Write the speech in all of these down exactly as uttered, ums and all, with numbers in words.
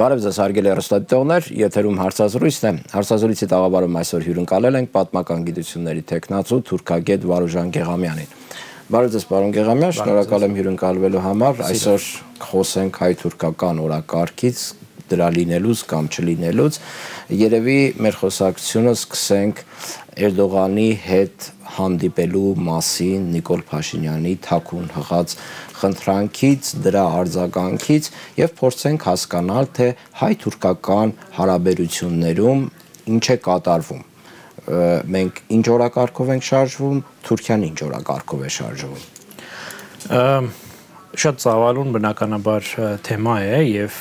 Բարև ձեզ հարգելի հեռուստադիտողներ, եթերում հարցազրույցն է։ Հարցազրույցի տաղավարում այսօր հյուրընկալել ենք պատմական գիտությունների տեխնացու թուրքագետ Վարուժան Գեղամյանին։ Բարև ձեզ, պարոն Գեղամյան, շնորհակալ եմ հյուրընկալվելու համար։ Այսօր խոսենք հայ-թուրքական օրակարգից, դրա լինելուց կամ չլինելուց։ Երևի մեր խոսակցությունը սկսենք Էրդողանի հետ հանդիպելու մասին Նիկոլ Փաշինյանի թաքուն հղած խնդրանքից, դրա արձագանքից եւ փորձենք հասկանալ, թե հայ-թուրքական հարաբերություններում ինչ է կատարվում։ Մենք ինչ օրակարգով ենք շարժվում, Թուրքիան ինչ օրակարգով է շարժվում։ Շատ ծավալուն բնականաբար թեմա է եւ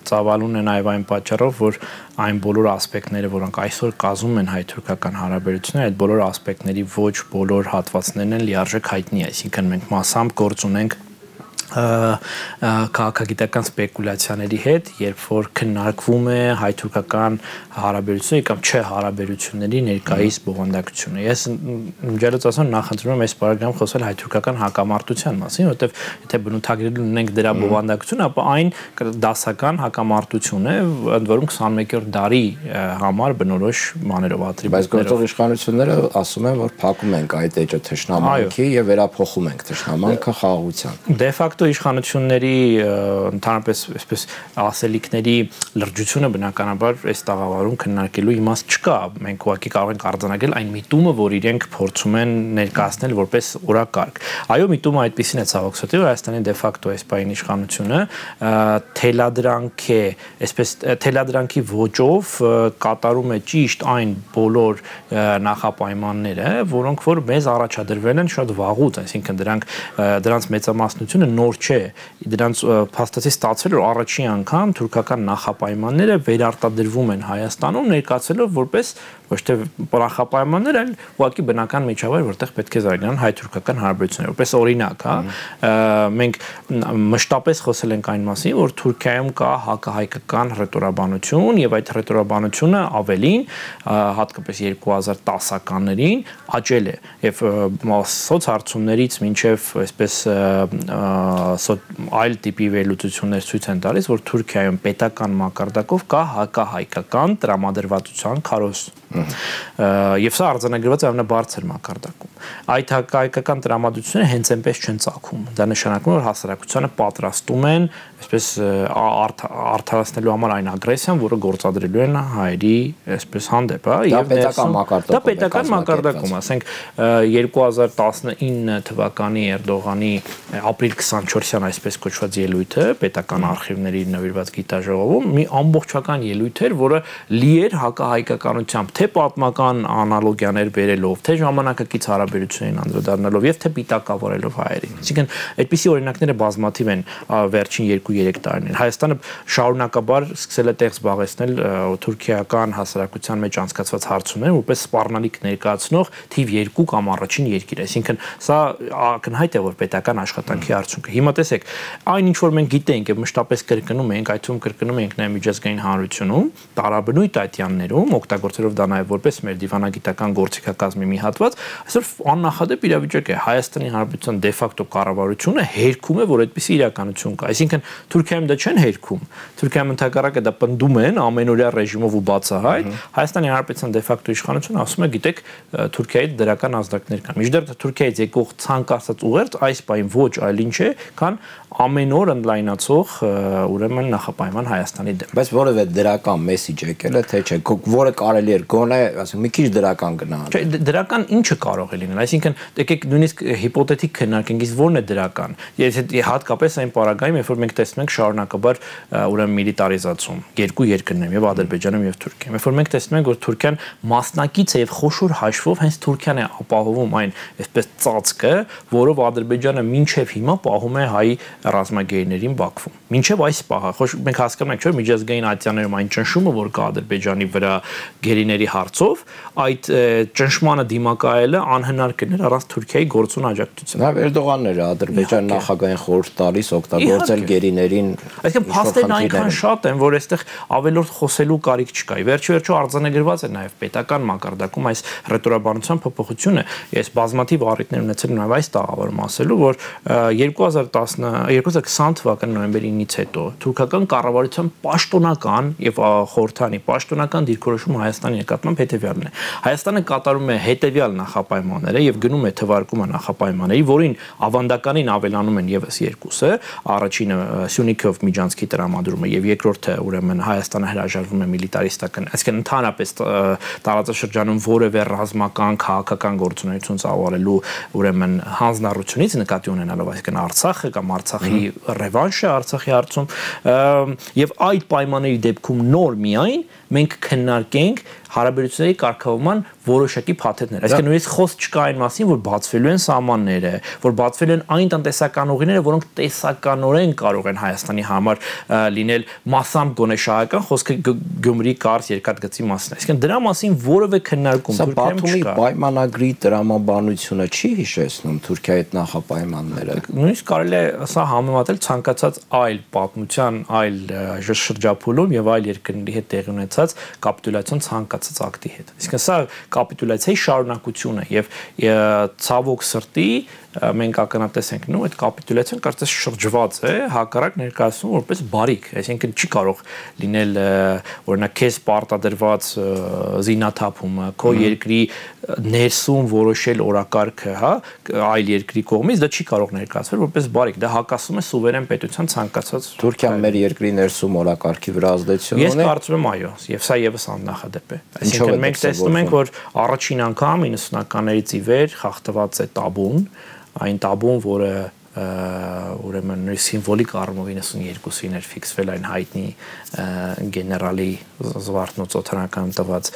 ծավալուն է նաեւ այն պատճառով, որ այն բոլոր ասպեկտները, որոնք այսօր կազմում են հայ-թուրքական հարաբերությունները, այդ բոլոր ասպեկտների ոչ բոլոր հատվածներն են լիարժեք հայտնի, այսինքն մենք մասամբ գործ ունենք քաղաքագիտական սպեկուլյացիաների հետ, երբ որ քննարկվում է հայ-թուրքական հարաբերությունների կամ չէ հարաբերությունների ներկայիս բովանդակությունը։ Ես ջերմից ասեմ նախընտրում եմ այս պարագայում խոսել հայ-թուրքական հակամարտության մասին, որովհետև եթե բնութագրել ունենք դրա բովանդակությունը, ապա այն դասական հակամարտություն է, ընդ որում քսանմեկերորդ դարի համար բնորոշ բաներով ատրիբուտներով։ Բայց գործող իշխանությունները ասում են, որ փակում ենք այդ էջը թշնամանքի եւ վերափոխում ենք թշնամանքը խաղաղության։ Դե ֆակտո իշխանությունների ընդհանրապես այսպես ասելիքների լրջությունը բնականաբար այս տաղավարում քննարկելու իմաստ չկա։ Մենք ուղղակի կարող ենք արձանագրել այն միտումը, որ իրենք փորձում են ներկայացնել որպես օրակարգ։ Այո, միտումը այդպեսին է ցավոք սրտի, որ Հայաստանի դե ֆակտո այս պահին իշխանությունը թելադրանք է, այսպես թելադրանքի ոճով կատարում է ճիշտ այն բոլոր նախապայմանները, որոնք որ մեզ առաջադրվել են շատ վաղուց, այսինքն դրանք դրանց մեծամասնությունը նոր չէ, դրանց փաստացի ստացվել որ առաջին անգամ թուրքական նախապայմանները վերարտադրվում են Հայաստանում ներկայացելով որպես ոչ թե նախապայմաններ, այլ ուղղակի բնական միջավայր, որտեղ պետք է զարգանան հայ-թուրքական հարաբերությունները, որպես օրինակ, հա, մենք մշտապես խոսել ենք այն մասին, որ Թուրքիայում կա հակահայկական հռետորաբանություն եւ այդ հռետորաբանությունը ավելին, հատկապես երկու հազար տասականներին աճել է եւ սոցհարցումներից մինչեւ այսպես այլ տիպի վերլուծություններ ցույց են տալիս, որ Թուրքիայում պետական մակարդակով կա հակահայկական տրամադրվածության քարոզ։ Եվ սա արձանագրված է ամենաբարձր մակարդակում։ Այդ հակահայկական տրամադրությունները հենց այնպես չեն ծագում։ Դա նշանակում է, որ հասարակությանը պատրաստում են այսպես արդարացնելու համար այն ագրեսիան, որը գործադրելու են հայերի այսպես հանդեպ, հա, եւ պետական մակարդակում։ Դա պետական մակարդակում, ասենք երկու հազար տասնինը թվականի Էրդողանի ապրիլ քսանչորսյան այսպես կոչված ելույթը պետական արխիվների նվիրված գիտաժողովում մի ամբողջական ելույթ էր, որը լի էր հակահայկականությամբ, թե պատմական անալոգիաներ բերելով, թե ժամանակակից հարաբերություններին անդրադառնալով եւ թե պիտակավորելով հայերին։ Այսինքն այդպիսի օրինակները բազմաթիվ են վերջին երկու-երեք տարիներին։ Հայաստանը շարունակաբար սկսել է տեղ զբաղեցնել թուրքիական հասարակության մեջ անցկացված հարցումներ, որպես սպառնալիք ներկայացնող թիվ երկու կամ առաջին երկիր։ Այսինքն սա ակնհայտ է, որ պետական աշխատանքի արդյունք է։ Հիմա տեսեք, այն ինչ որ մենք գիտենք եւ մշտապես կրկնում ենք, այդ թվում կրկնում ենք նաեւ միջազգային հանրությունում, տարաբնույթ այդյաններում, օգտագործելով դա նաեւ որպես մեր դիվանագիտական գործիքակազմի մի հատված, այսօր աննախադեպ իրավիճակ է Հայաստանի Հանրապետության դե ֆակտո կառավարությունը հերքում է, որ այդպիսի իրականություն կա։ Այսինքն Թուրքիայում դա չեն հերքում։ Թուրքիայում ընդհակառակը դա պնդում են ամենօրյա ռեժիմով ու բացահայտ։ Հայաստանի Հանրապետության դե ֆակտո իշխանությունը ասում է, գիտեք, Թուրքիայի դրական ազդակներ կան։ Միջդեռ Թուրքիայից եկող ցանկացած ուղերձ այս բային ոչ այլ ինչ է, քան ամեն օր ընդլայնացող ուրեմն նախապայման Հայաստանի դեմ։ Բայց որևէ դրական մեսիջ եկել է, թե չէ, որը կարելի է գոնե, ասենք, մի քիչ դրական գնալ։ Չէ, դրական ինչը կարող է լինել, այսինքն եկեք նույնիսկ հիպոթետիկ քննարկենք, իսկ ո՞րն է դրական։ Եթե հատկապես այն պարագայում, երբ որ մենք տեսնում ենք շարունակաբար ուրեմն միլիտարիզացում երկու երկրներում, եւ Ադրբեջանում եւ Թուրքիայում, երբ որ մենք տեսնում ենք, որ Թուրքիան մասնակից է եւ խոշոր հաշվով հենց Թուրքիան է ապահովում այն այսպես ծածկը, որով Ադրբեջանը մինչեւ հիմա պահում է հայ ռազմագերիներին Բաքվում։ Մինչև այս պահը, խոշ մենք հասկանում ենք, չէ՞, միջազգային ատյաններում այն ճնշումը, որ կա Ադրբեջանի վրա գերիների հարցով, այդ ճնշմանը դիմակայելը անհնար անհնար կներ առանց Թուրքիայի գործուն աջակցության։ Նաև Էրդողանն էր Ադրբեջան նախագահային խորհուրդ տալիս օգտագործել գերիներին։ Այսինքն փաստերն այնքան շատ են, որ այստեղ ավելորդ խոսելու կարիք չկա։ Վերջի վերջո արձանագրված է նաև պետական մակարդակում այս ռետորաբանության փոփոխությունը։ Ես բազմաթիվ առիթներ ունեցել նաև այս տաղավարում ասելու, որ երկու հազար քսան թվականի նոյեմբերի ինից հետո թուրքական կառավարության պաշտոնական եւ խորհրդանի պաշտոնական դիրքորոշումը Հայաստանի նկատմամբ հետեւյալն է։ Հայաստանը կատարում է հետեւյալ նախապայմանները եւ գնում է թվարկումը նախապայմանների, որին ավանդականին ավելանում են եւս երկուսը, առաջինը Սյունիքով Միջանցքի տրամադրումը եւ երկրորդը ուրեմն Հայաստանը հրաժարվում է միլիտարիստական, այսինքն ընդհանրապես տարածաշրջանում որևէ ռազմական քաղաքական գործունեություն ծավալելու ուրեմն հանձնառությունից նկատի ունենալով, այսինքն Արցախը կամ Արցախի ռևանշը Արցախի հարցում եւ այդ պայմանների դեպքում նոր միայն մենք քննարկենք հարաբերությունների կարգավորման որոշակի փաթեթներ։ Այսինքն նույնիսկ խոսք չկա այն մասին, որ բացվելու են սահմանները, որ բացվելու են այն տնտեսական ուղիները, որոնք տեսականորեն կարող են Հայաստանի համար լինել մասամբ գոնե շահական, խոսքը Գյումրի կարս երկաթգծի մասին։ Այսինքն դրա մասին որևէ քննարկում Թուրքիայում չկա։ Բաթումի պայմանագրի տրամաբանությունը չի հիշեցնում Թուրքիայի հետ նախապայմանները։ Նույնիսկ կարելի է սա համեմատել ցանկացած այլ պատմության, այլ շրջափուլում եւ այլ երկրների հետ տեղի ունեցած կապիտուլյացիոն ցանկացած ակտի հետ։ Այսինքն սա կապիտուլյացիայի շարունակություն է եւ ցավոք սրտի մենք ակնատես ենք նո այդ կապիտուլյացիան կարծես շրջված է հակառակ ներկայացնում որպես բարիք, այսինքն չի կարող լինել օրինակ քեզ պարտադրված զինաթափումը, քո երկրի ներսում որոշել օրակարգը, հա, այլ երկրի կողմից դա չի կարող ներկայացվել որպես բարիք, դա հակասում է սուվերեն պետության ցանկացած։ Թուրքիան մեր երկրի ներսում օրակարգի վրա ազդեցություն ունի։ Ես կարծում եմ այո, եւ սա եւս աննախադեպ է։ Այսինքն մենք տեսնում ենք, որ առաջին անգամ իննսունականներից ի վեր խախտված է տաբուն, այն տաբուն, որը ուրեմն սիմվոլիկ առումով իննսունյոթին էր ֆիքսվել այն հայտնի գեներալի Զվարթնոց օթանական տված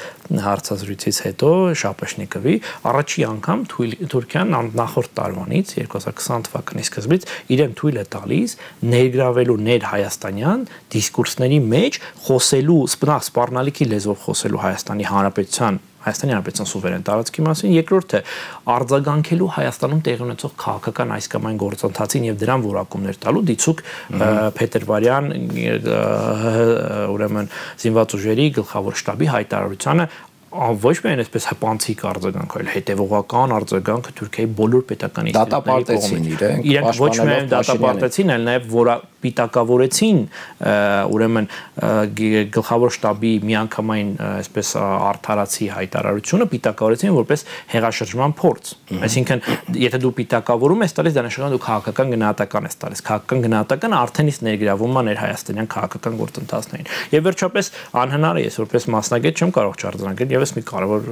հարցազրույցից հետո Շապեշնիկովի առաջի անգամ Թուրքիան նախորդ տարվանից երկու հազար քսան թվականի սկզբից իրեն թույլ է տալիս ներգրավելու ներհայաստանյան դիսկուրսների մեջ խոսելու սպառնալիքի լեզվով խոսելու Հայաստանի Հանրապետության Հայաստանի Հանրապետության սուվերեն տարածքի մասին, երկրորդը արձագանքելու Հայաստանում տեղի ունեցող քաղաքական այս կամ այն գործընթացին եւ դրան որակումներ տալու դիցուկ Փետրվարյան ուրեմն զինված ուժերի գլխավոր շտաբի հայտարարությանը ոչ միայն այսպես հպանցիկ արձագանք, այլ հետևողական արձագանքը Թուրքիայի բոլոր պետական ինստիտուտների կողմից։ Իրենք ոչ միայն դատապարտեցին, այլ նաև որ պիտակավորեցին ուրեմն գլխավոր շտաբի միանգամայն այսպես արդարացի հայտարարությունը պիտակավորեցին որպես հեղաշրջման փորձ։ Այսինքն, եթե դու պիտակավորում ես տալիս, դա նշանակում է դու քաղաքական գնահատական ես տալիս։ Քաղաքական գնահատականը արդեն իսկ ներգրավում է ներհայաստանյան քաղաքական գործընթացներին։ Եվ վերջապես անհնար է ես որպես մասնագետ չեմ կարող չարձանագրել եւս մի կարևոր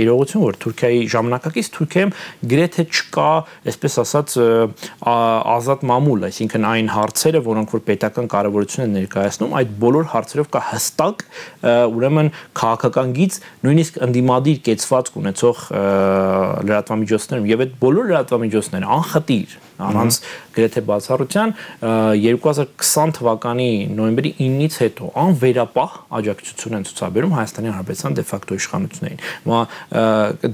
իրողություն, որ Թուրքիայի ժամանակակից Թուրքիայում գրեթե չկա, այսպես ասած, ազատ մամուլ, այսինքն այն հարցերը, որոնք որ պետական կարևորություն են ներկայացնում, այդ բոլոր հարցերով կա հստակ ուրեմն քաղաքական գիծ, նույնիսկ ընդդիմադիր կեցվածք ունեցող լրատվամիջոցներում եւ այդ բոլոր լրատվամիջոցները անխտիր առանց գրեթե բացառության երկու հազար քսան թվականի նոյեմբերի ինից հետո անվերապահ աջակցություն են ցուցաբերում Հայաստանի Հանրապետության դե ֆակտո իշխանություններին։ Հիմա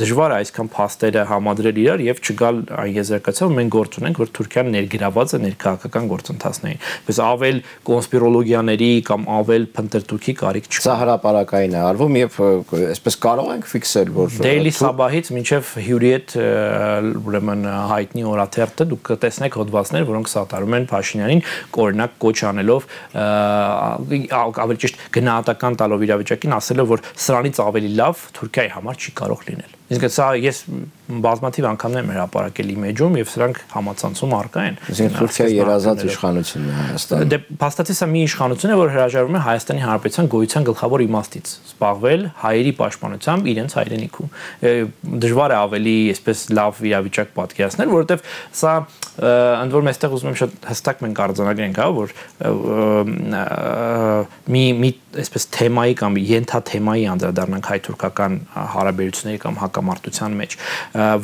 դժվար է այսքան փաստերը համադրել իրար եւ չգալ այն եզրակացիով մենք գործ ունենք, որ Թուրքիան ներգրաված է ներքաղաքական գործընթացներին։ Բայց ավել կոնսպիրոլոգիաների կամ ավել փնտրտուքի կարիք չկա։ Սա հրապարակային է արվում եւ այսպես կարող ենք ֆիքսել, որ Daily Sabah-ից մինչեւ Hürriyet ուրեմն հայտնի օրաթերթը դուք տեսնեք հոդվածներ, որոնք սատարում են Փաշինյանին օրինակ կոչ անելով ավելի ճիշտ գնահատական տալով իրավիճակին, ասելով, որ սրանից ավելի լավ Թուրքիայի համար չի կարող լինել։ Իսկ սա ես բազմաթիվ անգամներ եմ հրապարակել իմեջում եւ սրանք համացանցում առկա են։ Իսկ Թուրքիայի երազած իշխանությունն է Հայաստանը։ Դե փաստացի սա մի իշխանություն է, որ հրաժարվում է Հայաստանի Հանրապետության գոյության գլխավոր իմաստից զբաղվել հայերի պաշտպանությամբ իրենց հայրենիքում։ Դժվար է ավելի այսպես լավ իրավիճակ պատկերացնել, որովհետեւ սա ընդ որում այստեղ ուզում եմ շատ հստակ մենք արձանագրենք, հա, որ մի մի այսպես թեմայի կամ ենթաթեմայի անդրադառնանք հայ-թուրքական հարաբերությունների կամ հակամարտության մեջ,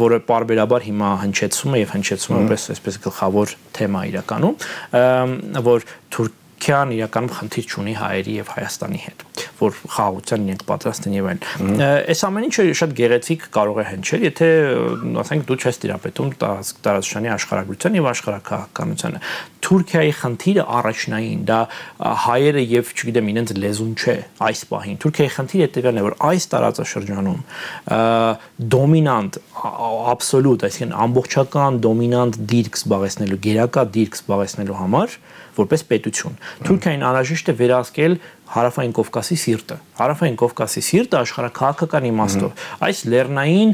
որը պարբերաբար հիմա հնչեցում է եւ հնչեցում է որպես այսպես գլխավոր թեմա իրականում, որ Թուրքիան իրականում խնդիր չունի հայերի եւ Հայաստանի հետ։ որ խաղաղության իրենք պատրաստ են եւ այլն։ Այս ամեն ինչը շատ գեղեցիկ կարող է հնչել, եթե ասենք դու չես տիրապետում տարածաշրջանի աշխարհագրության եւ աշխարհաքաղաքականությանը։ Թուրքիայի խնդիրը առաջնային դա հայերը եւ չգիտեմ իրենց լեզուն չէ այս պահին։ Թուրքիայի խնդիրը հետեւյալն է, որ այս տարածաշրջանում դոմինանտ absolute, այսինքն ամբողջական դոմինանտ դիրք զբաղեցնելու, գերակա դիրք զբաղեցնելու համար որպես պետություն Թուրքիային անհրաժեշտ է վերահսկել Հարավային Կովկասի սիրտը։ Հարավային Կովկասի սիրտը աշխարհաքաղաքական իմաստով այս լեռնային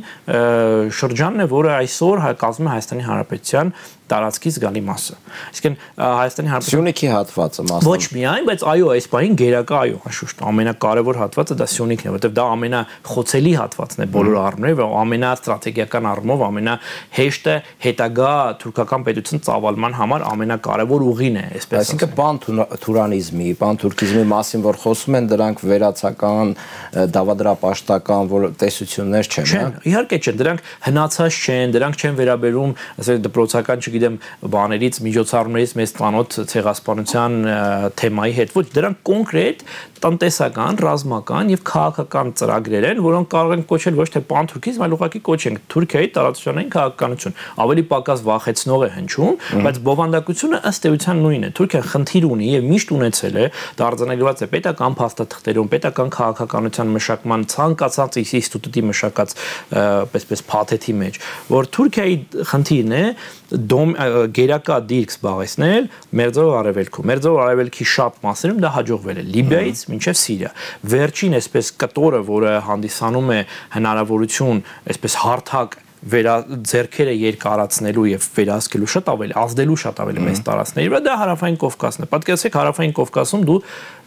շրջանն է, որը այսօր կազմում է Հայաստանի Հանրապետության տարածքից գալի մասը։ Այսինքն Հայաստանի Հանրապետության Սյունիքի հատվածը մասը։ Ոչ միայն, բայց այո, այս բանին գերակա այո, անշուշտ ամենակարևոր հատվածը դա Սյունիքն է, որովհետև դա ամենախոցելի հատվածն է բոլոր առումներով, ամենաստրատեգիական առումով ամենահեշտը հետագա թուրքական պետություն ծավալման համար ամենակարևոր ուղին է, այսպես ասած։ Այսինքն պանթուրքիզմի, պանթուրքիզմի մասին որ խոսում են, դրանք վերացական, դավադրապաշտական որ տեսություններ չեն, հա։ Իհարկե չեն, դրանք հնացած չեն, դրանք չեն վերաբերում, ասենք դպրոցական, չգիտեմ, բաներից, միջոցառումներից մեծ տանոթ ցեղասպանության թեմայի հետ, ոչ, դրանք կոնկրետ տնտեսական, ռազմական եւ քաղաքական ծրագրեր են, որոնք կարող են կոչել ոչ թե պանթուրքիզմ, այլ ուղղակի կոչենք Թուրքիայի տարածաշրջանային քաղաքականություն։ Ավելի պակաս վախեցնող է հնչում, բայց բովանդակությունը ըստ էության նույնն է։ Թուրքիան խնդիր ունի եւ միշտ ունեցել է, դարձանելված է պետական փաստաթղթերում, պետական քաղաքականության մշակման ցանկացած ինստիտուտի մշակած այսպես փաթեթի մեջ, որ Թուրքիայի խնդիրն է գերակա դիրք զբաղեցնել Մերձավոր Արևելքում։ Մերձավոր Արևելքի շատ մասերում դա հաջողվել է Լիբիայից մինչև Սիրիա։ Վերջին այսպես կտորը, որը հանդիսանում է հնարավորություն այսպես հարթակ վերա ձեռքերը երկարացնելու եւ վերահսկելու շատ ավելի ազդելու շատ ավելի մեծ տարածքների վրա դա Հարավային Կովկասն է։ Պատկերացրեք Հարավային Կովկասում դու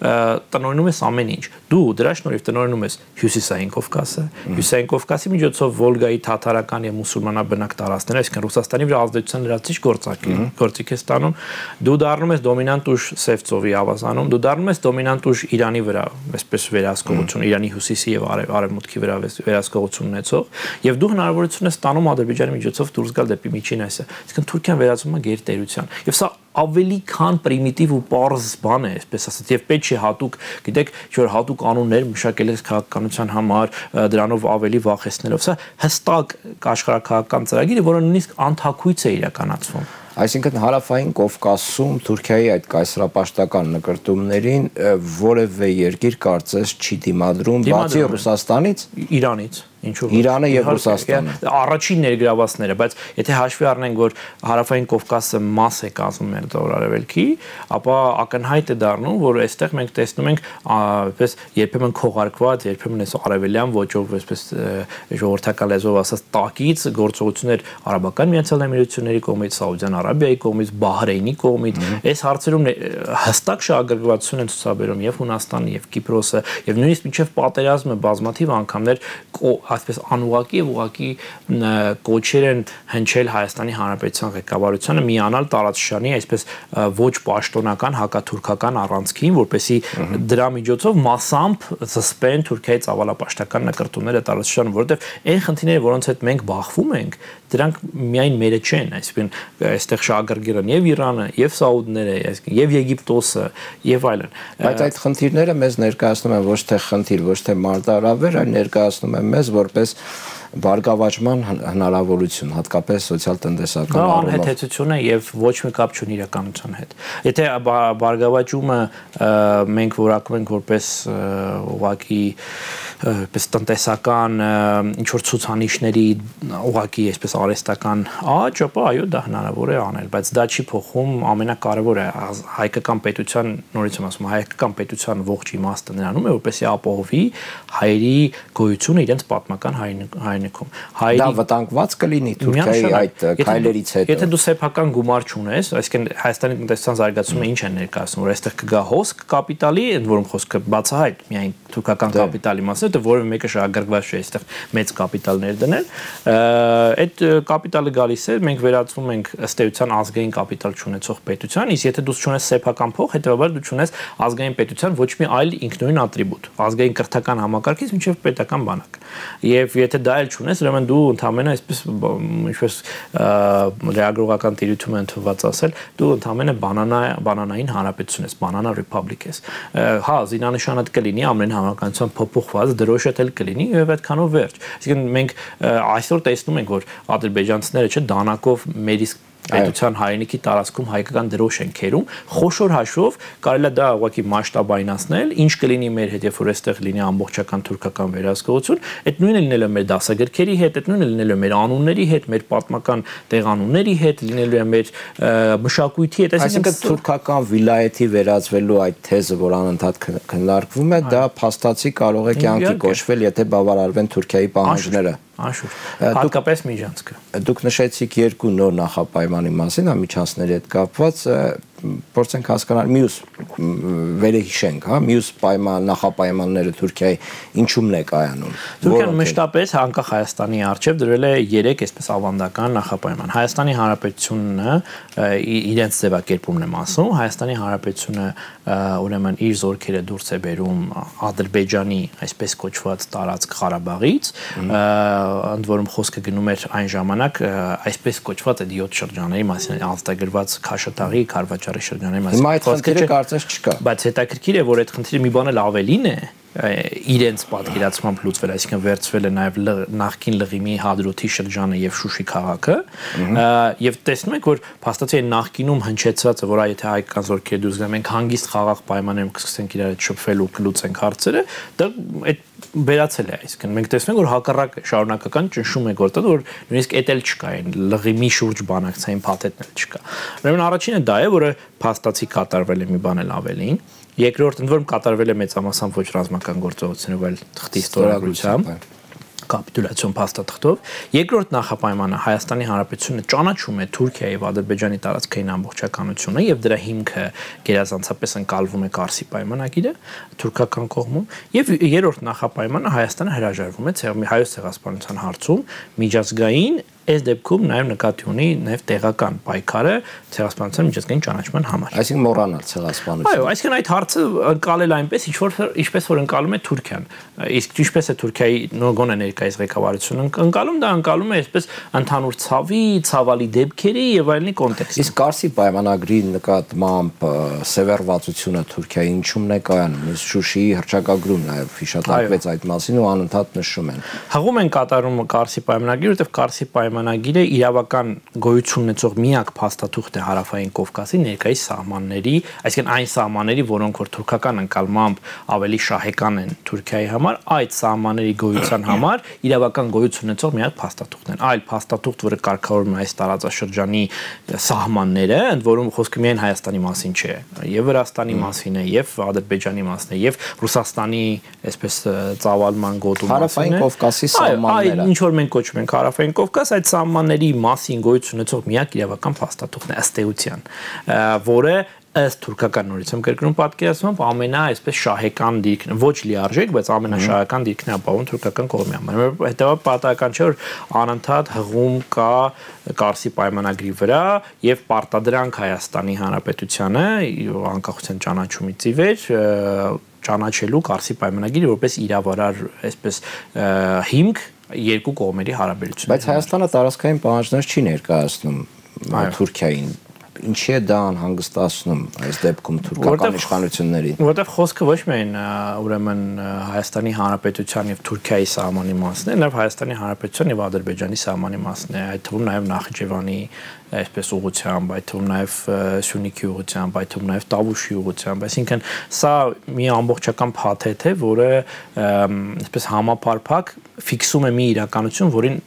տնօրինում ես ամեն ինչ։ Դու դրա շնորհիվ տնօրինում ես Հյուսիսային Կովկասը, Հյուսիսային Կովկասի միջոցով Վոլգայի թաթարական եւ մուսուլմանաբնակ տարածքները, այսինքն Ռուսաստանի վրա ազդեցության լրացուցիչ գործակի գործիք է ստանում։ Դու դառնում ես դոմինանտ ուժ Սև ծովի ավազանում, դու դառնում ես դոմինանտ ուժ Իրանի վրա, այսպես վերահսկողություն, Իրանի հյուսիսի եւ արևմուտքի վրա վերահսկողություն ունեցող, եւ դու հնարավորություն ես ստանում Ադրբեջանի միջոցով դուրս գալ դեպի Միջին Ասիա։ Այսինքն Թուրքիան վերածվում է գերտերության։ Եվ սա ավելի քան պրիմիտիվ ու պարզ բան է, այսպես ասած, եւ պետք չի հատուկ, գիտեք, որ հատուկ անուններ մշակել ես քաղաքականության համար, դրանով ավելի վախեցնելով։ Սա հստակ աշխարհաքաղաքական ծրագիր է, որը նույնիսկ անթակույց է իրականացվում։ Այսինքն Հարավային Կովկասում Թուրքիայի այդ կայսրապաշտական նկրտումներին որևէ երկիր կարծես չի դիմադրում, բացի Ռուսաստանից, Իրանից, ինչու՞ Իրանը եւ Ռուսաստանը։ Առաջին ներգրավվածները, բայց եթե հաշվի առնենք, որ Հարավային Կովկասը մաս է կազմում Մերձավոր Արևելքի, ապա ակնհայտ է դառնում, որ այստեղ մենք տեսնում ենք այսպես երբեմն քողարկված, երբեմն այս արևելյան ոճով այսպես ժողովրդական լեզվով ասած տակից գործողություններ Արաբական Միացյալ Էմիրությունների կողմից, Սաուդյան Արաբիայի կողմից, Բահրեյնի կողմից, այս հարցերում հստակ շահագրգռվածություն են ցուցաբերում եւ Հունաստանը, եւ Կիպրոսը, եւ նույնիսկ մինչեւ պատերազմը բազմաթիվ անգամներ այսպես անուղակի եւ ուղակի կոչեր են հնչել Հայաստանի Հանրապետության ղեկավարությանը միանալ տարածաշրջանի այսպես ոչ պաշտոնական հակաթուրքական առանցքին, որպեսզի դրա միջոցով մասամբ զսպեն Թուրքիայի ծավալապաշտական նկրտումները տարածաշրջանում, որովհետեւ այն խնդիրները, որոնց հետ մենք բախվում ենք, դրանք միայն մերը չեն, այսինքն այստեղ շահագրգիռ են եւ Իրանը, եւ Սաուդները, այսինքն եւ Եգիպտոսը եւ այլն։ Բայց այդ խնդիրները մեզ ներկայացնում են ոչ թե խնդիր, ոչ թե մարտահրավեր, այլ ներկայացնում են մեզ որպես բարգավաճման հնարավորություն, հատկապես սոցիալ-տնտեսական առումով։ Դա անհեթեթություն է եւ ոչ մի կապ չունի իրականության հետ։ Եթե բարգավաճումը մենք որակում ենք որպես ուղղակի պես տնտեսական ինչ որ ցուցանիշների ուղղակի այսպես արհեստական աճ, ապա այո, դա հնարավոր է անել, բայց դա չի փոխում ամենակարևորը հայկական պետության, նորից եմ ասում, հայկական պետության ողջ իմաստը նրանում է, որպեսզի ապահովի հայերի գոյությունը իրենց պատմական հայրենիքում։ Դա վտանգված կլինի Թուրքիայի այդ քայլերից հետո։ Եթե դու սեփական գումար չունես, այսինքն Հայաստանի տնտեսության զարգացումը ինչ են ներկայացնում, որ այստեղ կգա հոսք կապիտալի, ընդ որում խոսքը բացահայտ միայն թուրքական կապիտալի մասը, որովհետեւ որևէ մեկը շահագրգռված չէ այստեղ մեծ կապիտալներ դնել, այդ կապիտալը գալիս է, մենք վերածվում ենք ըստ էության ազգային կապիտալ չունեցող պետության, իսկ եթե դու չունես սեփական փող, հետեւաբար դու չունես ազգային պետության ոչ մի այլ ինքնուրույն ատրիբուտ, ազգային կրթական համակարգից մինչև պետական բանակ։ Եվ եթե դա էլ չունես, ուրեմն դու ընդհանրապես այսպես ինչպես լեագրողական տիրույթում են թվված ասել, դու ընդհանրապես բանանա բանանային հանրապետություն ես, բանանա ռեփաբլիկ ես։ Հա, զինանշանդ կլինի ամեն հավանականությամբ փոփոխված, դրոշդ էլ կլինի եւ այդքանով վերջ։ Այսինքն մենք այսօր տեսնում ենք, որ ադրբեջանցիները չէ դանակով մեր իսկ պետության հայրենիքի տարածքում հայկական դրոշ են քերում, խոշոր հաշվով կարելի է դա ուղղակի մասշտաբայնացնել, ինչ կլինի մեր հետ, երբ որ այստեղ լինի ամբողջական թուրքական վերահսկողություն, այդ նույնը լինելու է մեր դասագրքերի հետ, այդ նույնը լինելու է մեր անունների հետ, մեր պատմական տեղանունների հետ, լինելու է մեր մշակույթի հետ, այսինքն թուրքական վիլայեթի վերածվելու այդ թեզը, որ անընդհատ քննարկվում է, դա փաստացի կարող է կյանքի կոչվել, եթե բավարարվեն Թուրքիայի պահանջները։ Անշուշտ, հատկապես միջանցքը։ Դուք նշեցիք երկու նոր նախապայմանի մասին, ամիջանցների հետ կապված, փորձենք հասկանալ մյուս վերհիշենք, հա, մյուս պայման նախապայմանները Թուրքիայի ինչումն է կայանում։ Թուրքիան մշտապես անկախ Հայաստանի արչև դրել է երեք այսպես ավանդական նախապայման։ Հայաստանի Հանրապետությունը իրենց ձևակերպումն եմ ասում, Հայաստանի Հանրապետությունը ուրեմն իր զորքերը դուրս է բերում Ադրբեջանի այսպես կոչված տարածք Ղարաբաղից, ընդ որում խոսքը գնում էր այն ժամանակ այսպես կոչված այդ յոթ շրջանների մասին ազատագրված Քաշաթաղի, Քարվաճարի շրջանների մասին։ Հիմա այդ խնդիրը կարծես չկա։ Բայց հետաքրքիր է, որ այդ խնդիրը մի բան էլ ավելին է իրենց պատկերացմամբ լուծվել, այսինքն վերցվել է նաև նախկին Լղիմի Հադրութի շրջանը եւ Շուշի քաղաքը, եւ տեսնում եք, որ փաստացի այն նախկինում հնչեցվածը, որ այ եթե հայկական զորքերը դուրս գան, մենք հանգիստ խաղաղ պայմաններում կսկսենք իրար հետ շփվել ու կլուծենք հարցերը, դա այդ վերացել է, այսինքն մենք տեսնում ենք, որ հակառակ շարունակական ճնշում է գործել, որ նույնիսկ էդ էլ չկա, այն Լղիմի շուրջ բանակցային փաթեթն էլ չկա։ Ուրեմն առաջինը դա է, որը փաստացի կատարվել է մի բան էլ ավելին։ Երկրորդ ընդ որում կատարվել է մեծամասամբ ոչ ռազմական գործողություններով, այլ թղթի ստորագրությամբ, կապիտուլյացիոն փաստաթղթով։ Երկրորդ նախապայմանը Հայաստանի Հանրապետությունը ճանաչում է Թուրքիայի եւ Ադրբեջանի տարածքային ամբողջականությունը եւ դրա հիմքը գերազանցապես ընկալվում է Կարսի պայմանագիրը թուրքական կողմում, եւ երրորդ նախապայմանը Հայաստանը հրաժարվում է Հայոց ցեղասպանության հարցում միջազգային այս դեպքում նաև նկատի ունի նաև տեղական պայքարը ցեղասպանության միջազգային ճանաչման համար։ Այսինքն մոռանալ ցեղասպանությունը։ Այո, այսինքն այդ հարցը ընկալել այնպես, ինչ որ ինչպես որ ընկալում է Թուրքիան։ Իսկ ինչպես է Թուրքիայի գոնե ներկայիս ղեկավարությունը ընկալում, դա ընկալում է այսպես ընդհանուր ցավի, ցավալի դեպքերի եւ այլնի կոնտեքստում։ Իսկ Կարսի պայմանագրի նկատմամբ սևեռվածությունը Թուրքիայի ինչումն է կայանում։ Շուշիի հռչակագրում նաև հիշատակվեց այդ մասին ու անընդհատ նշում են։ Հղում են կատարում Կարսի պայմանագիրը, որտեղ Կարսի պայմանագիրը իրավական գոյություն ունեցող միակ փաստաթուղթ է Հարավային Կովկասի ներկայիս սահմանների, այսինքն այն սահմանների, որոնք որ թուրքական ընկալմամբ ավելի շահեկան են Թուրքիայի համար, այդ սահմանների գոյության համար իրավական գոյություն ունեցող միակ փաստաթուղթն են։ Այլ փաստաթուղթ, որը կարգավորում է այս տարածաշրջանի սահմանները, ընդ որում խոսքը միայն Հայաստանի մասին չէ, եւ Վրաստանի մասին է, եւ Ադրբեջանի մասին է, եւ Ռուսաստանի այսպես ծավալման գոտու մասին է։ Հարավային Կովկասի սահմանները։ Ինչ որ մենք կոչում ենք Հարավային Կովկաս, այդ սահմանների մասին գոյություն ունեցող միակ իրավական փաստաթուղթն է ըստ էության, որը ըստ թուրքական նորից եմ կրկնում պատկերացմամբ ամենա այսպես շահեկան դիրքն, ոչ լիարժեք, բայց ամենաշահեկան դիրքն է ապահովում թուրքական կողմի համար։ Հետևաբար պատահական չէ, որ անընդհատ հղում կա Կարսի պայմանագրի վրա եւ պարտադրանք Հայաստանի Հանրապետությանը անկախության ճանաչումից ի վեր ճանաչելու Կարսի պայմանագիրը որպես իրավարար այսպես հիմք երկու կողմերի հարաբերություններ։ Բայց Հայաստանը տարածքային պահանջներ չի ներկայացնում Թուրքիային։ Ինչի է դա անհանգստացնում այս դեպքում թուրքական իշխանություններին։ Որտեղ խոսքը ոչ միայն ուրեմն Հայաստանի Հանրապետության եւ Թուրքիայի սահմանի մասն է, այլև Հայաստանի Հանրապետության եւ Ադրբեջանի սահմանի մասն է, այդ թվում նաեւ Նախիջևանի այսպես ուղղությամբ, այդ թվում նաեւ Սյունիքի ուղղությամբ, այդ թվում նաեւ Տավուշի ուղղությամբ, այսինքն սա մի ամբողջական փաթեթ է, որը այսպես համապարփակ ֆիքսում է մի իրականություն, որին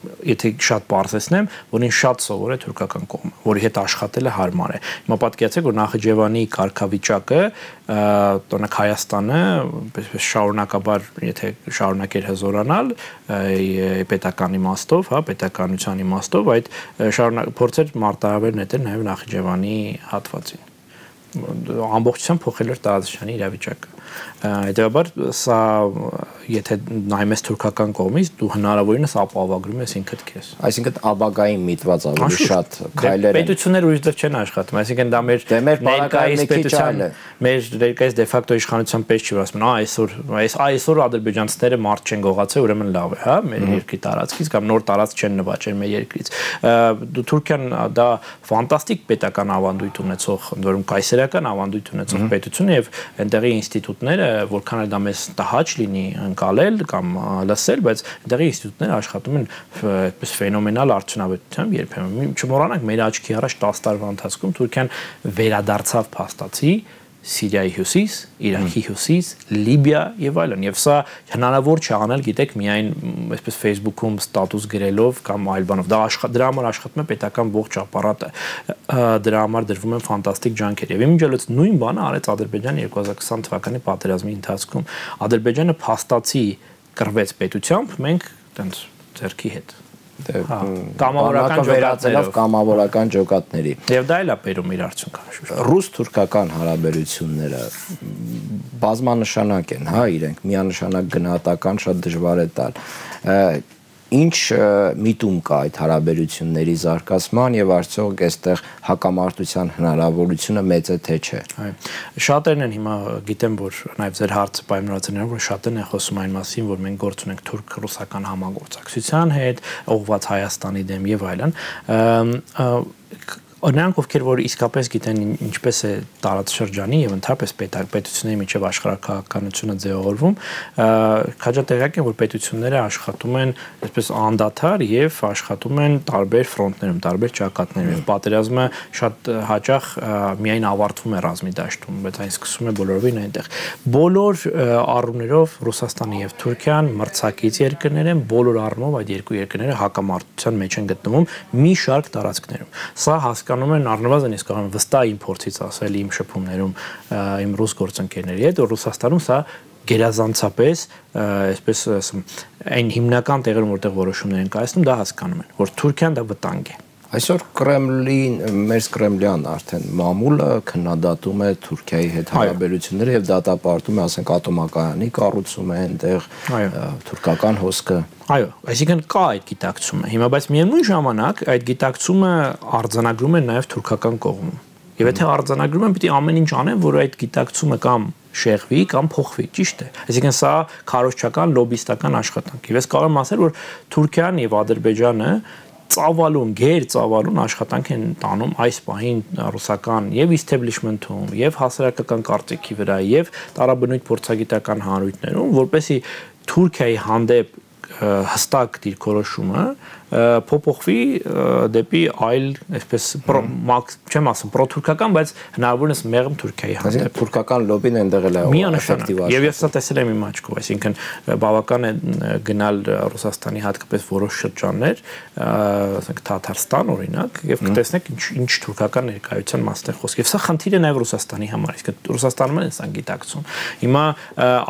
եթե շատ բարձրացնեմ, որին շատ սովոր է թուրքական կողմը, որի հետ աշխատելը հարմար է։ Հիմա պատկերացրեք, որ Նախիջևանի կարգավիճակը, տոնակ Հայաստանը, շարունակաբար, եթե շարունակեր հզորանալ պետական իմաստով, հա, պետականության իմաստով, այդ փորձեր մարտահրավեր նետել նաև Նախիջևանի հատվածին։ Ամբողջությամբ փոխել էր տարածաշրջանի իրավիճակը։ Հետևաբար սա եթե նայում ես թուրքական կողմից, դու հնարավորինս ապահովագրում ես ինքդ քեզ։ Այսինքն ապագային միտված ավելի շատ քայլեր են։ Պետությունները ուրիշ դեռ չեն աշխատում, այսինքն դա մեր ներկայիս պետության, մեր ներկայիս դե ֆակտո իշխանության պես չի, որ ասում են, «Ա այսօր, այս այսօր ադրբեջանցիները մարդ չեն գողացել, ուրեմն լավ է, հա, մեր երկրի տարածքից կամ նոր տարածք չեն նվաճել մեր երկրից»։ Դու Թուրքիան դա ֆանտաստիկ պետական ավանդույթ ունեցող, ընդ որում կայսերական ավանդույթ ունեցող պետություն է եւ այնտեղի ինստիտուտները, որքան էլ դա մեզ տհաճ լինի ընկալել կամ լսել, բայց այնտեղի ինստիտուտները աշխատում են այդպես ֆենոմենալ արդյունավետությամբ երբեմն։ Չմոռանանք, մեր աչքի առաջ տասը տարվա ընթացքում Թուրքիան վերադարձավ փաստացի Սիրիայի հյուսիս, Իրաքի հյուսիս, Լիբիա եւ այլն, եւ սա հնարավոր չէ անել, գիտեք, միայն այսպես Facebook-ում ստատուս գրելով կամ այլ բանով։ Դա դրա համար աշխատում է պետական ողջ ապարատը, դրա համար դրվում են ֆանտաստիկ ջանքեր։ Եվ իմիջիայլոց նույն բանը արեց Ադրբեջանը երկու հազար քսան թվականի պատերազմի ընթացքում։ Ադրբեջանը փաստացի կռվեց պետությամբ, մենք տենց ձեռքի հետ կամավորական վերածելով կամավորական ջոկատների։ Եվ դա էլ է բերում իր արդյունքը։ Ռուս-թուրքական հարաբերությունները բազմանշանակ են, հա, իրենք միանշանակ գնահատական շատ դժվար է տալ։ Ինչ միտում կա այդ հարաբերությունների զարգացման եւ արդյոք այստեղ հակամարտության հնարավորությունը մեծ է թե չէ։ Այո, շատերն են հիմա գիտեմ, որ նաեւ ձեր հարցը պայմանավորություններով որ շատերն են խոսում այն մասին, որ մենք գործ ունենք թուրք-ռուսական համագործակցության հետ, ուղղված Հայաստանի դեմ եւ այլն։ Նրանք, ովքեր որ իսկապես գիտեն ինչպես է տարածաշրջանի եւ ընդհանրապես պետությունների միջև աշխարհակահաղականությունը ձևավորվում, քաջատեղյակ են, որ պետությունները աշխատում են այսպես անդադար եւ աշխատում են տարբեր ֆրոնտներում, տարբեր ճակատներում եւ պատերազմը շատ հաճախ միայն ավարտվում է ռազմի դաշտում, բայց այն սկսում է բոլորովին այնտեղ։ Բոլոր առումներով Ռուսաստանը եւ Թուրքիան մրցակից երկրներ են, բոլոր առումով այդ երկու երկրները հակամարտության մեջ են գտնվում մի շարք տարածքներում։ Սա հասկանում են առնվազն իսկ կարող եմ վստահ իմ փորձից ասել իմ շփումներում իմ ռուս գործընկերների հետ, որ Ռուսաստանում սա գերազանցապես այսպես ասեմ այն հիմնական տեղերում որտեղ որոշումներ են կայացնում, դա հասկանում են, որ Թուրքիան դա վտանգ է։ Այսօր Կրեմլին, մեր Կրեմլյան արդեն մամուլը քննադատում է Թուրքիայի հետ հարաբերությունները եւ դատապարտում է, ասենք, ատոմակայանի կառուցումը այնտեղ, թուրքական հոսքը։ Այո, այսինքն կա այդ գիտակցումը։ Հիմա բայց միևնույն ժամանակ այդ գիտակցումը արձանագրում են նաեւ թուրքական կողմում։ Եվ եթե արձանագրում են, պիտի ամեն ինչ անեն, որ այդ գիտակցումը կամ շեղվի կամ փոխվի, ճիշտ է։ Այսինքն սա քարոզչական լոբիստական աշխատանք է։ Ես կարող եմ ասել, որ Թուրքիան եւ Ադրբեջանը ծավալուն, գեր ծավալուն աշխատանք են տանում այս պահին ռուսական եւ իստեբլիշմենթում, եւ հասարակական կարծիքի վրա, եւ տարաբնույթ փորձագիտական հանրույթներում, որպեսզի Թուրքիայի հանդեպ հստակ դիրքորոշումը փոփոխվի դեպի այլ, այսպես չեմ ասում պրոթուրքական, բայց հնարավորինս մեղմ Թուրքիայի հանդեպ։ Թուրքական լոբին այնտեղ էլ է էֆեկտիվ աշխատում։ Եվ ես սա տեսել եմ իմ աչքով, այսինքն բավական է գնալ Ռուսաստանի հատկապես որոշ շրջաններ, ասենք Թաթարստան օրինակ, եւ կտեսնեք ինչ ինչ թուրքական ներկայության մասն է խոսք։ Եվ սա խնդիր է նաեւ Ռուսաստանի համար, իսկ Ռուսաստանում են սա գիտակցում։ Հիմա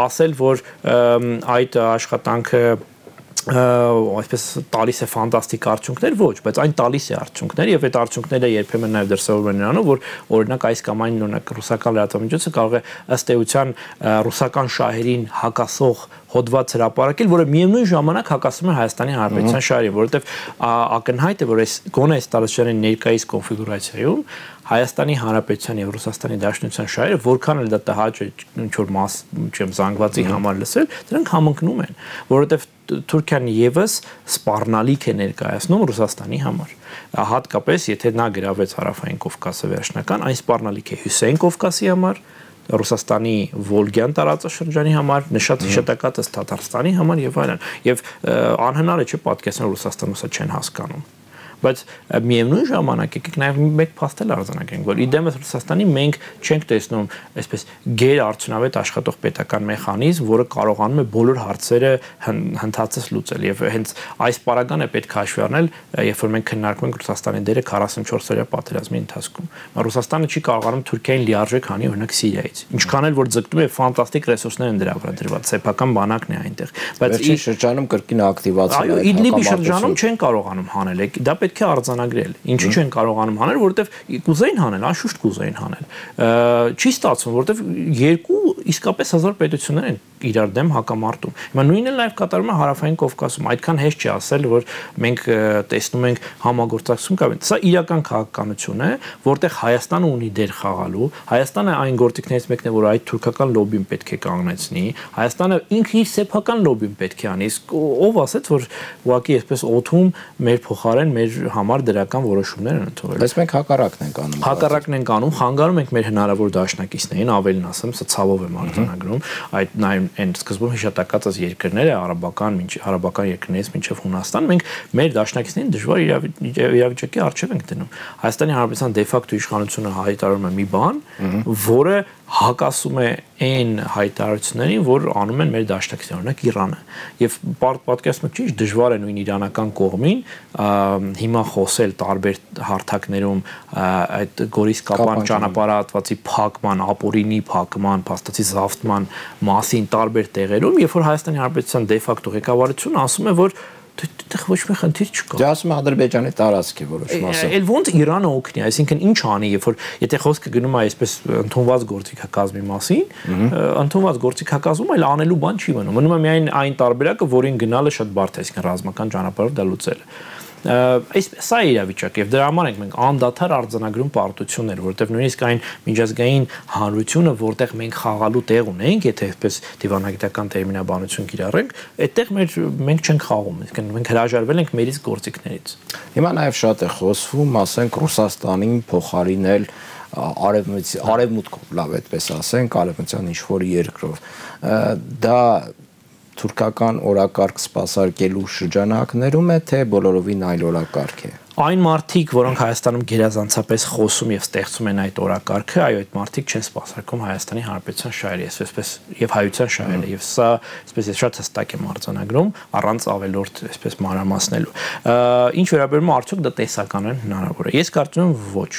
ասել, որ այդ աշխատանքը այսպես տալիս է ֆանտաստիկ արդյունքներ, ոչ, բայց այն տալիս է արդյունքներ եւ այդ արդյունքները երբեմն նաեւ դրսեւորվում են նրանով, որ օրինակ այս կամ այն օրինակ ռուսական լրատվամիջոցը կարող է ըստ էության ռուսական շահերին հակասող հոդված հրապարակել, որը միևնույն ժամանակ հակասում է Հայաստանի Հանրապետության շահերին, որովհետեւ ակնհայտ է, որ այս գոնե այս տարածաշրջանի ներկայիս կոնֆիգուրացիայում Հայաստանի Հանրապետության եւ Ռուսաստանի Դաշնության շահերը, որքան էլ դա տհաճ է ինչ որ մաս, չեմ զանգվածի համար լսել, դրանք համընկնում են, որովհետեւ Թուրքիան եւս սպառնալիք է ներկայացնում Ռուսաստանի համար։ Հատկապես եթե նա գրավեց Հարավային Կովկասը վերջնական, այն սպառնալիք է Հյուսիսային Կովկասի համար, Ռուսաստանի Վոլգյան տարածաշրջանի համար, նշած հիշատակածս Թաթարստանի համար եւ այլն։ Եվ անհնար է չէ պատկերացնել Ռուսաստանում սա չեն հասկանում։ Բայց միևնույն ժամանակ եկեք նաև մեկ փաստել արձանագրենք, որ իդեմս Ռուսաստանի մենք չենք տեսնում այսպես գեր արդյունավետ աշխատող պետական մեխանիզմ, որը կարողանում է բոլոր հարցերը հնդածես լուծել եւ հենց այս պարագան է պետք է հաշվի առնել, երբ որ մենք քննարկում ենք Ռուսաստանի դերը քառասունչորս օրյա պատերազմի ընթացքում։ Ռուսաստանը չի կարողանում Թուրքիային լիարժեք հանի օրինակ Սիրիայից։ Ինչքան էլ որ ձգտում է ֆանտաստիկ ռեսուրսներ են դրա վրա դրված, սեփական բանակն է այնտեղ։ Բայց ի շրջանում կրկին ակտիվացել է։ Այո, Իդլիբի շրջանում չեն կարողանում հանել։ Դա պետք է արձանագրել։ Ինչի չեն կարողանում հանել, որովհետև կուզեին հանել, անշուշտ կուզեին հանել։ Չի ստացվում, որովհետև երկու իսկապես հազար պետություններ են իրար դեմ հակամարտում։ Հիմա նույնը նաև կատարվում է Հարավային Կովկասում։ Այդքան հեշտ չի ասել, որ մենք տեսնում ենք համագործակցություն կա։ Սա իրական քաղաքականություն է, որտեղ Հայաստանը ունի դեր խաղալու։ Հայաստանը այն գործիքներից մեկն է, որ այդ թուրքական լոբին պետք է կանգնեցնի։ Հայաստանը ինքը իր սեփական լոբին պետք է անի։ Իսկ ով ասեց, որ ուղղակի այսպես օթում մեր փոխարեն մեր համար դրական որոշումներ են ընդունվել։ Բայց մենք հակառակն ենք անում։ Հակառակն ենք անում, խանգարում ենք մեր հնարավոր դաշնակիցներին, ավելին ասեմ, սա ցավով եմ արձանագրում, այդ նաև այն սկզբում հիշատակած այս երկրները, արաբական, արաբական երկրներից մինչև Հունաստան, մենք մեր դաշնակիցներին դժվար իրավիճակի առջև ենք դնում։ Հայաստանի Հանրապետության դե ֆակտո իշխանությունը հայտարարում է մի բան, որը հակասում է այն հայտարարություններին, որ անում են մեր դաշնակիցները, օրինակ Իրանը։ Եվ պատկերացնում եք, ճիշտ դժվար է նույն իրանական կողմին հիմա խոսել տարբեր հարթակներում այդ Գորիս Կապան ճանապարհատվածի փակման, ապօրինի փակման, փաստացի զավթման մասին տարբեր տեղերում, երբ որ Հայաստանի Հանրապետության դե ֆակտո ղեկավարությունը ասում է, որ դեռ ոչ մի խնդիր չկա։ Դե ասում է Ադրբեջանի տարածքի որոշ մասը։ Էլ ոնց Իրանը օգնի, այսինքն ինչ անի, երբ որ եթե խոսքը գնում է այսպես ընդունված գործիքակազմի մասին, ընդունված գործիքակազմում այլ անելու բան չի մնում։ Մնում է միայն այն տարբերակը, որին գնալը շատ բարդ է, այսինքն ռազմական ճանապարհով դա լուծելը։ Այս սա է իրավիճակը եւ դրա համար ենք մենք անդադար արձանագրում պարտություններ, որովհետեւ նույնիսկ այն միջազգային հանրությունը, որտեղ մենք խաղալու տեղ ունենք, եթե այսպես դիվանագիտական տերմինաբանություն կիրառենք, այդտեղ մեր մենք չենք խաղում, այսինքն մենք հրաժարվել ենք մերից գործիքներից։ Հիմա նաեւ շատ է խոսվում, ասենք Ռուսաստանին փոխարինել արևմուտքով, լավ այդպես ասենք, արևմտյան ինչ-որ երկրով։ Դա թուրքական օրակարգ սպասարկելու շրջանակներում է, թե բոլորովին այլ օրակարգ է։ Այն մարդիկ, որոնք Հայաստանում գերազանցապես խոսում եւ ստեղծում են այդ օրակարգը, այո, այդ մարդիկ չեն սպասարկում Հայաստանի Հանրապետության շահերը, այսպես եւ հայության շահերը, եւ սա այսպես ես շատ հստակ եմ արձանագրում, առանց ավելորդ այսպես մանրամասնելու։ Ինչ վերաբերում է արդյոք դա տեսականորեն հնարավոր է։ Ես կարծում եմ ոչ,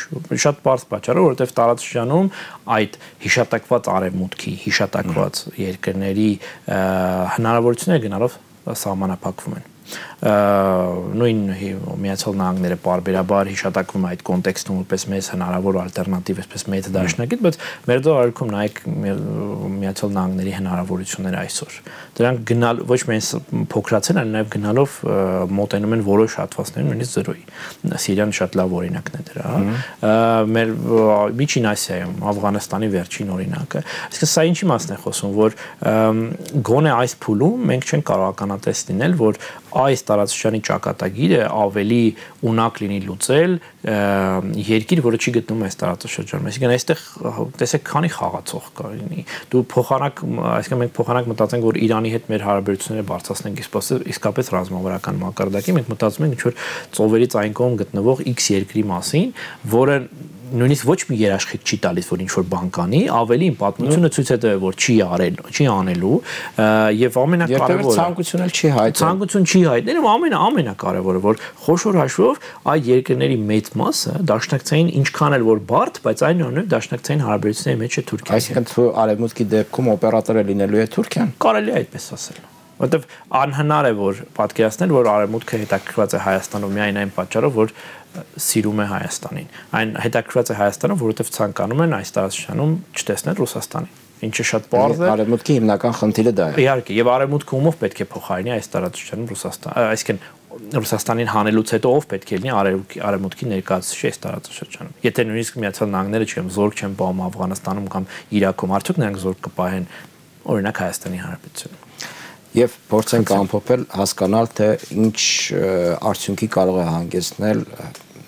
շատ բարձ պատճառով, որովհետեւ տարածաշրջանում այդ հիշատակված արևմուտքի, հիշատակված երկրների հնարավորությունները գնալով սահմանափակվում են։ Նույն Միացյալ Նահանգները պարբերաբար հիշատակվում է այդ կոնտեքստում որպես մեծ հնարավոր ալտերնատիվ, այսպես մեծ դաշնակից, բայց մեր դեպքում նայեք Միացյալ Նահանգների հնարավորությունները այսօր։ Դրանք գնալ ոչ միայն փոքրացել, այլ նաև գնալով մոտենում են որոշ հատվածներում նույնիսկ զրոյի։ Սիրիան շատ լավ օրինակն է դրա։ Մեր Միջին Ասիայում Աֆղանստանի վերջին օրինակը։ Իսկ սա ինչի մասն է խոսում, որ գոնե այս փուլում մենք չենք կարող ականատես լինել, որ այս տարածաշրջանի ճակատագիրը ավելի ունակ լինի լուծել երկիր, որը չի գտնում այս տարածաշրջանում։ Այսինքն այստեղ տեսեք քանի խաղացող կա լինի։ Դու փոխանակ, այսինքն մենք փոխանակ մտածենք, որ Իրանի հետ մեր հարաբերությունները բարձրացնենք, իսկապես ռազմավարական մակարդակի, մենք մտածում ենք ինչ-որ ծովերից այն կողմ գտնվող X երկրի մասին, որը նույնիսկ ոչ մի երաշխիք չի տալիս, որ ինչ-որ բան կանի, ավելի պատմությունը ցույց է տվել, որ չի արել, չի անելու, եւ ամենակարևորը ցանկություն էլ չի հայտնել։ Ցանկություն չի հայտնել, ու ամենա ամենակարևորը, որ խոշոր հաշվով այդ երկրների մեծ մասը դաշնակցային ինչքան էլ որ բարդ, բայց այնուամենայնիվ դաշնակցային հարաբերությունների մեջ է Թուրքիան։ Այսինքն արևմուտքի դեպքում օպերատորը լինելու է Թուրքիան։ Կարելի է այդպես ասել։ Որտեվ անհնար է որ պատկերացնել, որ արևմուտքը հետաքրքրված է Հայաստանում միայն այն պատճառով, որ սիրում է Հայաստանին։ Այն հետաքրքրված է Հայաստանում, որովհետև ցանկանում են այս տարածաշրջանում չտեսնել Ռուսաստանին, ինչը շատ պարզ է։ Արևմուտքի հիմնական խնդիրը դա է։ Իհարկե, եւ արևմուտքը ումով պետք է փոխարինի այս տարածաշրջանում Ռուսաստան, այսինքն Ռուսաստանին հանելուց հետո ով պետք է լինի արևմուտքի ներկայացուցիչ այս տարածաշրջանում։ Եթե նույնիսկ Միացյալ Նահանգները չեմ զորք չեն պահում Աֆղանստանում կամ Իրաքում, արդյոք նրանք զորք կպահեն օրինակ Հայաստանի Հանրապետությունում։ Եվ փորձենք ամփոփել, հասկանալ, թե ինչ արդյունքի կարող է հանգեցնել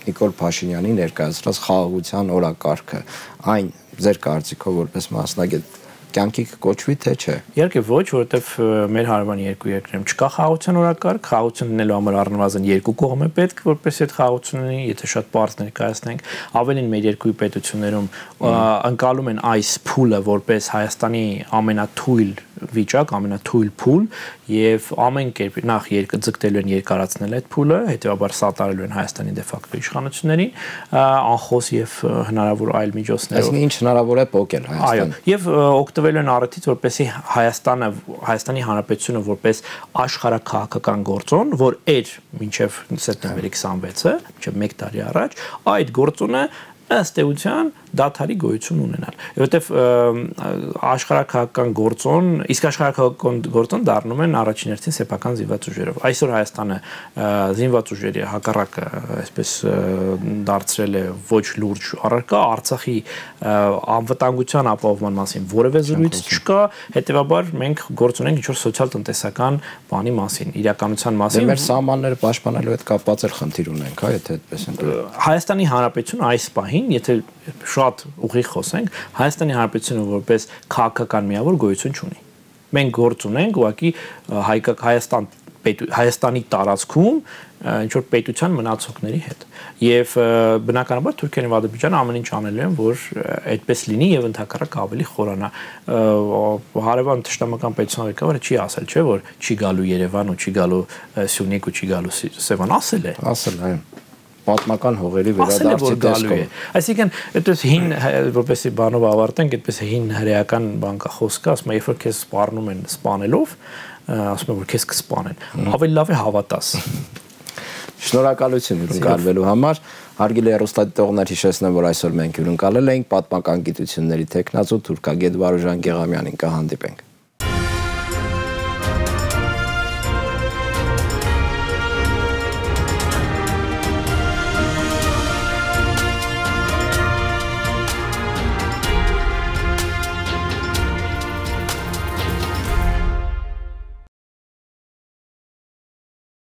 Նիկոլ Փաշինյանի ներկայացրած խաղաղության օրակարգը, այն ձեր կարծիքով որպես մասնագետ կյանքի կոչվի թե չէ։ Իհարկե ոչ, որովհետև մեր հարևան երկու երկրներում չկա խաղաղության օրակարգ, խաղաղություն լինելու համար առնվազն երկու կողմ է պետք, որպես այդ խաղաղություն լինի, եթե շատ բարձր ներկայացնենք, ավելին մեր երկու պետություններում ընկալում են այս փուլը որպես Հայաստանի ամենաթույլ վիճակ, ամենաթույլ փուլ եւ ամեն կերպ նախ երկը ձգտելու են երկարացնել այդ փուլը, հետեւաբար սատարելու են Հայաստանի դե ֆակտո իշխանություններին, անխոս եւ հնարավոր այլ միջոցներով։ Այսինքն ինչ հնարավոր է փոկել Հայաստանը։ Այո, եւ օգտվելու են առիթից, որպեսզի Հայաստանը, Հայաստանի Հանրապետությունը որպես աշխարհաքաղաքական գործոն, որ էր մինչեւ սեպտեմբերի քսանվեցը, մինչեւ մեկ տարի առաջ, այդ գործոնը ըստ էության դադարի գոյություն ունենալ, որովհետև աշխարհաքաղաքական գործոն, իսկ աշխարհաքաղաքական գործոն դառնում են առաջին հերթին սեփական զինված ուժերով։ Այսօր Հայաստանը զինված ուժերի հակառակը այսպես դարձրել է ոչ լուրջ առարկա, Արցախի անվտանգության ապահովման մասին որևէ զրույց չկա, հետեւաբար մենք գործ ունենք ինչ-որ սոցիալ-տնտեսական բանի մասին, իրականության մասին։ Մեր սահմանները պաշտպանելու հետ կապված էլ խնդիր ունենք, հա, եթե այդպես ենք։ Հայաստանի Հանրապետությունը այս պահին, եթե շատ ուղիղ խոսենք, Հայաստանի Հանրապետությունը որպես քաղաքական միավոր գոյություն չունի։ Մենք գործ ունենք ուղղակի Հայաստան Հայաստանի տարածքում ինչ-որ պետության մնացողների հետ։ Եվ բնականաբար Թուրքիան եւ Ադրբեջանը ամեն ինչ անելու են, որ այդպես լինի եւ ընդհակառակը ավելի խորանա։ Հարևան թշնամական պետության ղեկավարը չի ասել, չէ, որ չի գալու Երևան ու չի գալու Սյունիք ու չի գալու Սևան, ասել է։ Ասել, այո։ Պատմական հողերի վերադարձի տեսքով։ Այսինքն, այդպես հին, որպեսզի բանով ավարտենք, այդպես հին հրեական բանկախոսքը, ասում է, երբ որ քեզ սպառնում են սպանելով, ասում է, որ քեզ կսպանեն, ավելի լավ է հավատաս։ Շնորհակալություն հյուրընկալվելու համար։ Հարգելի հեռուստադիտողներ, հիշեցնեմ, որ այսօր մենք հյուրընկալել էինք պատմական գիտությունների տեխնացու թուրքագետ Վարուժան Գեղամյանին, կհանդիպենք։